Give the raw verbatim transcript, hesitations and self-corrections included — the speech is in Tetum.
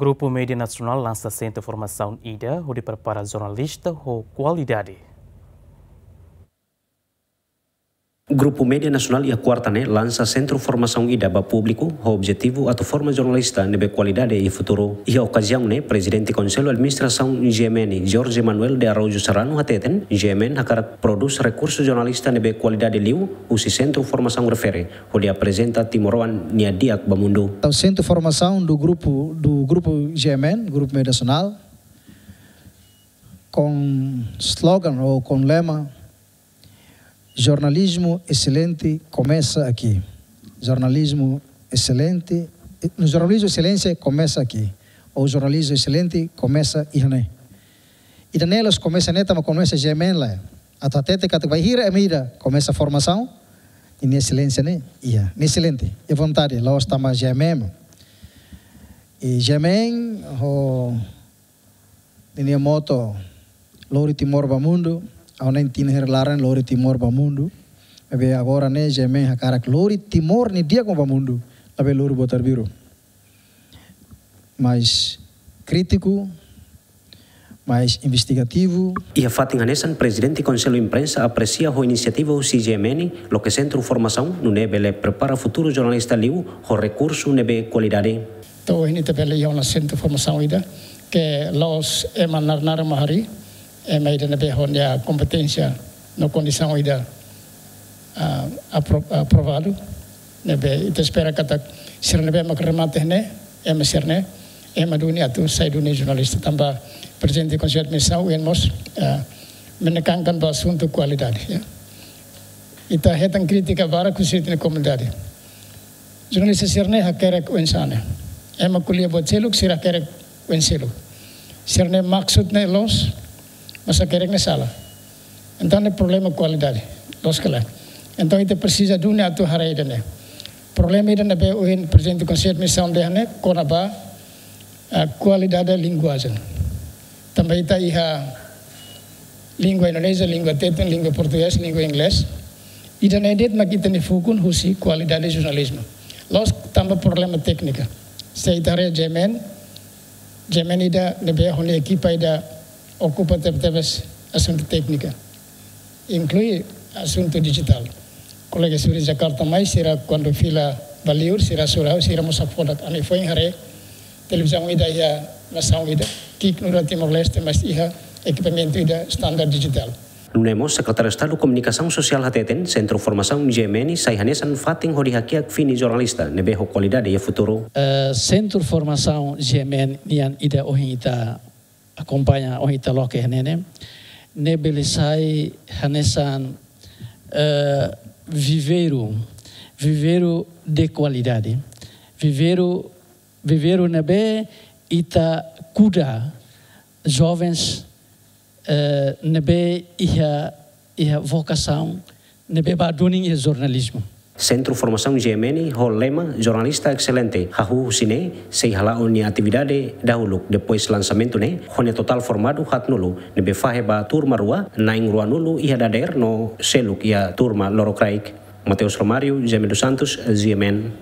Grupu Média Nasionál lansa sentru formasaun ida hodi prepara jornalista ho kualidade. Grupu Média Nasionál iha kuarta ne'e lansa sentru formasaun ida ba públiku ho objetivu atu forma jornalista ne'ebé kualidade iha futuru. Iha okaziaun ne'e, Prezidente Konsellu Administrasaun G M N, Jorge Manuel de Araújo Serrano, hateten, G M N hakarak prodús rekursu jornalista ne'ebé kualidade liu husi sentru formasaun refere, hodi aprezenta timoroan nia di'ak ba mundu. Entaun, sentru formasaun do grupu, do grupu G M N, Grupu Média Nasionál, com slogan ou com lema: "Jornalismo excelente começa aqui." Jornalismo excelente, no jornalismo excelência começa aqui. Ou jornalismo excelente começa iha ne'e. Ida-ne'e la'ós komesa ne'e tanba komesa G M N lae. Atu hatete katak bainhira ema ida komesa formasaun, nia excelência ne'e iha, nia excelente, iha vontade, la'ós tanba G M N. I G M N ho ninia moto, "Lori Timor ba Mundu", ha'u hanoin tinan hira laran, "Lori Timor ba Mundu". Maibé agora ne'e G M N hakarak lori Timor nia di'ak ba mundu, labele lori buat arbiru. Mais krítiku, mais investigativu. Iha fatin hanesan, Prezidente Konsellu Imprensa apresia ho inisiativa husi G M N, loke sentru formasaun, nune'e bele prepara futuru jornalista liu ho rekursu ne'ebé kualidade. Entaun, ohin ita bele iha ona sentru formasaun ida, ke la'ós ema narnar mak harii, ema ida ne'ebé ho nia kompeténsia no kondisaun ida, ah, apro-, aprovadu, ne'ebé ita espera katak sira ne'ebé mak remata ne'e, ema sira-ne'e, ema duni atu sai duni jornalista tanba Prezidente Konsellu Administrasaun, ohin mós, ah, menekankan ba asuntu kualidade, ya. Ita hetan krítika barak husi ita-nia komunidade. Jornalista sira-ne'e hakerek oinsá ne'e. Ema ko'alia buat seluk, sira hakerek oin seluk. Sira-nia maksud ne'e loos, mas hakerek ne'e sala. Entaun ne'e problema kualidade, loos ka lae? Entaun ita presiza duni atu haree ida-ne'e. Problema ida ne'ebé ohin Prezidente Konsellu Administrasaun dehan ne'e kona-ba, ah, kualidade linguajen. Tanba ita iha língua Indonézia, língua Tetun, língua Portugés, língua Inglés. Ida-ne'e de'it mak ita-nia fukun husi kualidade jornalizmu. La'ós tanba problema téknika. Se ita haree G M N, G M N ida ne'ebé ho nia ekipa ida okupa tebetebes asuntu téknika, inklui asuntu dijitál. Kolega sira husi Jakarta mai, sira kuandu fila ba liur, sira hasoru ha'u, sira mós hakfodak. Ami foin haree televizaun ida iha nasaun ida, ki'ik nu'udar Timor-Leste, mas iha ekipamentu ida standar dijitál. Nune'e mós, Sekretáriu Estadu Komunikasaun Sosiál hateten, sentru formasaun G M N sai hanesan fatin hodi hakiak fini jornalista ne'ebé ho kualidade iha futuru. Eh, sentru formasaun G M N nian ida ohin ita akompaña, ohin ita loke iha ne'e ne'e, ne'e bele sai hanesan, eh, viveiru, viveiru de kualidade, viveiru, viveiru ne'ebé ita kuda jovens, eh, ne'ebé iha, iha vokasaun ne'ebé ba duni iha jornalizmu. Sentru formasaun G M N ho lema Jornalista Excelente, hahú husi ne'e sei hala'o nia atividade dahuluk, depois lansamentu ne'e, ho nia totál formadu haatnulu, ne'ebé fahe ba turma rua, na'in ruanulu iha dadeer no seluk iha turma lorokraik. Mateus Romário, Jaime dos Santos, G M N.